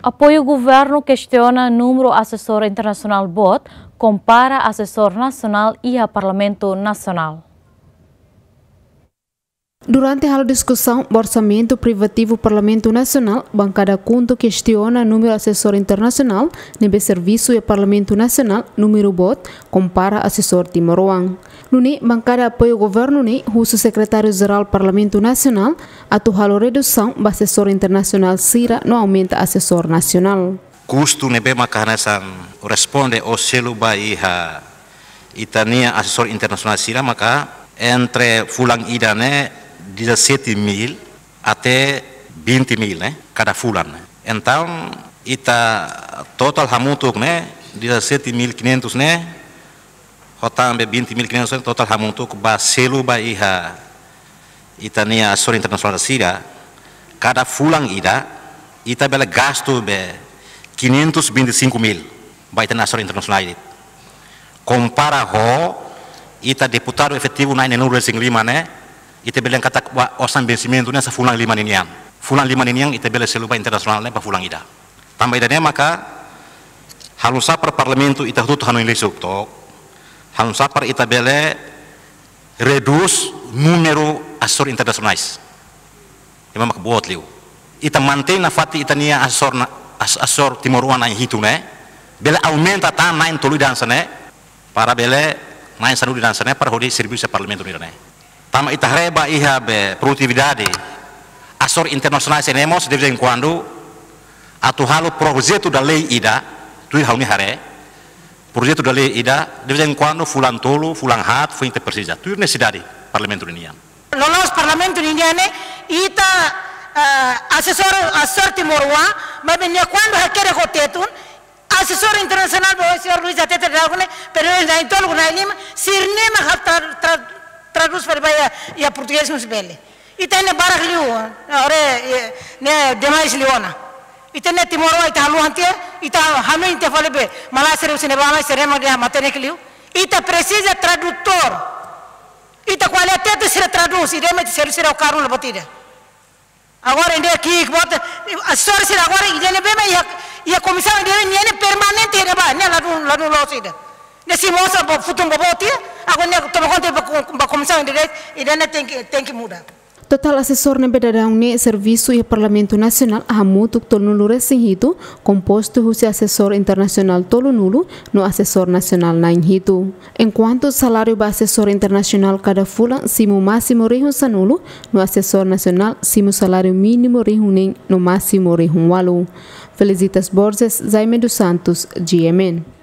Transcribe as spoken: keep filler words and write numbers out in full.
Apoiu governu kestiona númeru asesór internasionál boot, kompara asesór nasionál iha Parlamentu Nasionál. Durante halo diskusaun ba orsamentu privativu Parlamentu Nasionál, bankada KHUNTO kestiona númeru asesór internasionál ne'ebé servisu iha Parlamentu Nasionál, númeru boot, kompara asesór timoroan. Nune'e bankada apoiu governu ne'e husu Sekretáriu Jerál Parlamentu Nasionál atu halo redusaun ba asesór internasionál sira no aumenta asesór nasionál. Kustu ne'ebé maka hanesan responde ou selu ba iha ita-nia asesór internasionál sira maka entre fulan ida ne'e dezassete mil até vinte mil ne'e, kada fulan ne'e. Entaun, ita totál hamutuk ne'e, dezassete mil quinhentos ne'e, ho tan be vinte mil quinhentos ne'e, totál hamutuk ba selu ba iha ita-nia asesór internasionál sira, kada fulan ida, ita bele gastu be quinhentos vinte e cinco mil ba ita-nia asesór internasionál ne'e. Kompara ho ita deputadu efetivu na'in-neenulu-resin-lima ne'e, ita bele katak ba osan vensimentu ne'e hanesan fulan lima ninian. Fulan lima ninian ita bele selu ba internasionál ne'e ba fulan ida. Tanba ida-ne'e maka halo nu'usá para Parlamentu ita hotu-hotu hanoin lisuk took. Halo nu'usá para ita bele redús númeru asesór internasionais. Ema mak boot liu. Ita mantein nafatin ita-nia asesór na-, as-, asesór timoroan na'in hitu ne'e. Bele aumenta tan na'in tolu ida hanesan ne'e. Para bele na'in sanulu ida hanesan ne'e para hodi servisu Parlamentu nian ne'e. Tanba ita haree ba iha be produtividade asesór internasionais ne'e mós de vez em quando atu halo projetu da lei ida, tuir ha'u-nia haree, projetu da lei ida, de vez em quando fulan tolu, fulan haat, foin ita presiza. Tuir nesesidade Parlamentu ninian. Loloos Parlamentu ninian ne'e, ita, eh, asesór, asesór timoroan, maibé nia kuandu hakerek ho Tetun, asesór internasionál ba señór Luis Atete Dragone, pero na'in-tolu, na'in-lima, sira-ne'e mak halo tra-, tra-, tradús fali ba iha, iha portugés mós bele. Ita ne'e barak liu, ora, eh, ne'e demais liu ona. Ita ne'e timoroan ita haluha tiha, ita hanoin tiha fali be, malae sira husi ne'ebá mai sira ema dehan matenek liu. Ita presiza tradutór. Ita ko'alia Tetun sira tradús, ida-ne'e mak sira, sira karun la buat ida. Agora ida ki'ik boot, asesór sira agora ida ne'ebé mak iha, iha komisaun ida ne'e ne'e permanente ne'ebá, ne'e ladún, ladún loos ida. Ne'e simu osan ba futun boboot tiha, agora ne'e toma konta ba ko-, ba komisaun ida, ida ne'e tenke, tenke muda. Totál asesór ne'ebé daudaun ne'e servisu iha Parlamentu Nasionál hamutuk tolunulu-resin-hitu, kompostu husi asesór internasionál tolunulu no asesór nasionál na'in-hitu. Enkuantu saláriu ba asesór internasionál kada fulan simu másimu rihun sanulu, no asesór nasionál simu saláriu mínimu rihun neen no másimu rihun ualu. Felicitas Borges, Jaime dos Santos, G M N.